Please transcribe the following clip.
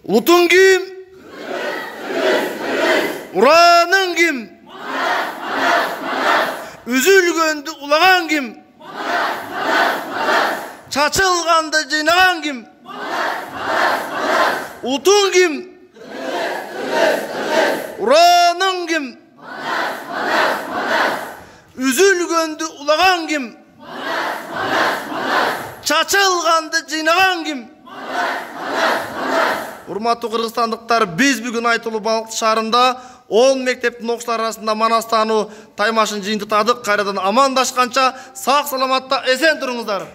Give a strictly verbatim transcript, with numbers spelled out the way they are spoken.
Улутуң ким? Ураның ким? Үзүлгөндү улаган ким? Чачылганды жыйнаган ким? Улутуң ким? Ураның ким? Üzülgöndü uлаган ким? Чачылганды жыйнаган ким? Урматтуу кыргызстандыктар, биз бүгүн Айтылуу Балыкчы шаарында он мектептин окуучулары арасында манастануу таймашын жыйынтыктадык. Кайрадан амандашканча сак саламатта эсен туруңуздар.